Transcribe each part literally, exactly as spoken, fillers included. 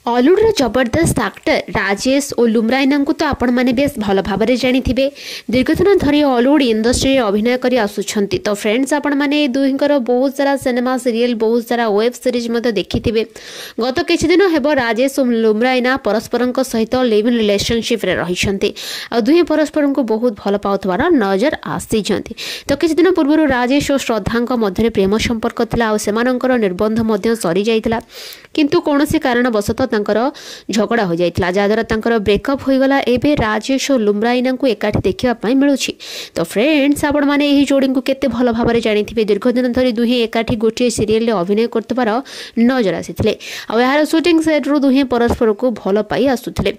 ଅଲିଉଡ଼ର ଜବରଦସ୍ତ ଆକ୍ଟର ରାଜେଶ ଓ ଲୁମ୍ରାଇନାଙ୍କୁ ତ ଆପଣମାନେ ବେଶ ଭଲ ଭାବରେ ଜାଣିଥିବେ। ଦୀର୍ଘଦିନ ଧରି ଅଲିଉଡ଼ ଇଣ୍ଡଷ୍ଟ୍ରିରେ ଅଭିନୟ କରି ଆସୁଛନ୍ତି। ତ ଫ୍ରେଣ୍ଡସ୍, ଆପଣମାନେ ଏ ଦୁହିଁଙ୍କର ବହୁତ ସାରା ସିନେମା, ସିରିଏଲ୍, ବହୁତ ସାରା ୱେବ୍ ସିରିଜ୍ ମଧ୍ୟ ଦେଖିଥିବେ। ଗତ କିଛି ଦିନ ହେବ ରାଜେଶ ଓ ଲୁମ୍ରାଇନା ପରସ୍ପରଙ୍କ ସହିତ ଲିଭ୍ ଇନ୍ ରିଲେସନସିପ୍ରେ ରହିଛନ୍ତି ଆଉ ଦୁହେଁ ପରସ୍ପରଙ୍କୁ ବହୁତ ଭଲ ପାଉଥିବାର ନଜର ଆସିଛନ୍ତି। ତ କିଛି ଦିନ ପୂର୍ବରୁ ରାଜେଶ ଓ ଶ୍ରଦ୍ଧାଙ୍କ ମଧ୍ୟରେ ପ୍ରେମ ସମ୍ପର୍କ ଥିଲା ଆଉ ସେମାନଙ୍କର ନିର୍ବନ୍ଧ ମଧ୍ୟ ସରିଯାଇଥିଲା, କିନ୍ତୁ କୌଣସି କାରଣବଶତଃ ତାଙ୍କର ଝଗଡ଼ା ହୋଇଯାଇଥିଲା, ଯାହାଦ୍ୱାରା ତାଙ୍କର ବ୍ରେକଅପ୍ ହୋଇଗଲା। ଏବେ ରାଜେଶ ଓ ଲୁମ୍ରାଇନାଙ୍କୁ ଏକାଠି ଦେଖିବା ପାଇଁ ମିଳୁଛି। ତ ଫ୍ରେଣ୍ଡସ୍, ଆପଣମାନେ ଏହି ଯୋଡ଼ିଙ୍କୁ କେତେ ଭଲ ଭାବରେ ଜାଣିଥିବେ। ଦୀର୍ଘଦିନ ଧରି ଦୁହେଁ ଏକାଠି ଗୋଟିଏ ସିରିଏଲରେ ଅଭିନୟ କରୁଥିବାର ନଜର ଆସିଥିଲେ ଆଉ ଏହାର ସୁଟିଂ ସେଟ୍ରୁ ଦୁହେଁ ପରସ୍ପରକୁ ଭଲ ପାଇ ଆସୁଥିଲେ।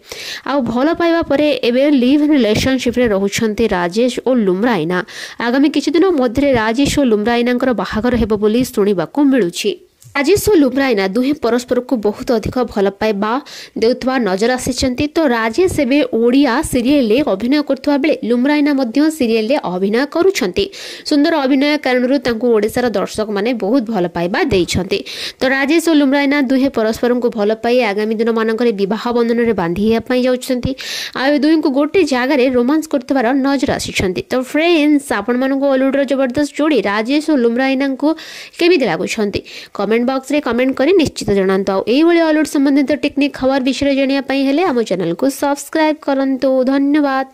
ଆଉ ଭଲ ପାଇବା ପରେ ଏବେ ଲିଭ୍ ଇନ୍ ରିଲେସନସିପ୍ରେ ରହୁଛନ୍ତି ରାଜେଶ ଓ ଲୁମ୍ରାଇନା। ଆଗାମୀ କିଛି ଦିନ ମଧ୍ୟରେ ରାଜେଶ ଓ ଲୁମ୍ରାଇନାଙ୍କର ବାହାଘର ହେବ ବୋଲି ଶୁଣିବାକୁ ମିଳୁଛି। ରାଜେଶ ଓ ଲୁମ୍ରାଇନା ଦୁହେଁ ପରସ୍ପରକୁ ବହୁତ ଅଧିକ ଭଲ ପାଇବା ଦେଉଥିବା ନଜର ଆସିଛନ୍ତି। ତ ରାଜେଶ ଏବେ ଓଡ଼ିଆ ସିରିଏଲରେ ଅଭିନୟ କରୁଥିବା ବେଳେ ଲୁମ୍ରାଇନା ମଧ୍ୟ ସିରିଏଲରେ ଅଭିନୟ କରୁଛନ୍ତି। ସୁନ୍ଦର ଅଭିନୟ କାରଣରୁ ତାଙ୍କୁ ଓଡ଼ିଶାର ଦର୍ଶକମାନେ ବହୁତ ଭଲ ପାଇବା ଦେଇଛନ୍ତି। ତ ରାଜେଶ ଓ ଲୁମ୍ରାଇନା ଦୁହେଁ ପରସ୍ପରଙ୍କୁ ଭଲ ପାଇ ଆଗାମୀ ଦିନମାନଙ୍କରେ ବିବାହ ବନ୍ଧନରେ ବାନ୍ଧି ହେବା ପାଇଁ ଯାଉଛନ୍ତି ଆଉ ଏ ଦୁହିଁଙ୍କୁ ଗୋଟେ ଜାଗାରେ ରୋମାନ୍ସ କରୁଥିବାର ନଜର ଆସିଛନ୍ତି। ତ ଫ୍ରେଣ୍ଡସ୍, ଆପଣମାନଙ୍କୁ ଅଲିଉଡ଼ର ଜବରଦସ୍ତ ଯୋଡ଼ି ରାଜେଶ ଓ ଲୁମ୍ରାଇନାଙ୍କୁ କେମିତି ଲାଗୁଛନ୍ତି, କମେଣ୍ଟ ବକ୍ସରେ କମେଣ୍ଟ କରି ନିଶ୍ଚିତ ଜଣାନ୍ତୁ। ଆଉ ଏଇଭଳି ଅଲିଉଡ଼ ସମ୍ବନ୍ଧିତ ଟେକ୍ନିକ୍ ଖବର ବିଷୟରେ ଜାଣିବା ପାଇଁ ହେଲେ ଆମ ଚ୍ୟାନେଲକୁ ସବସ୍କ୍ରାଇବ୍ କରନ୍ତୁ। ଧନ୍ୟବାଦ।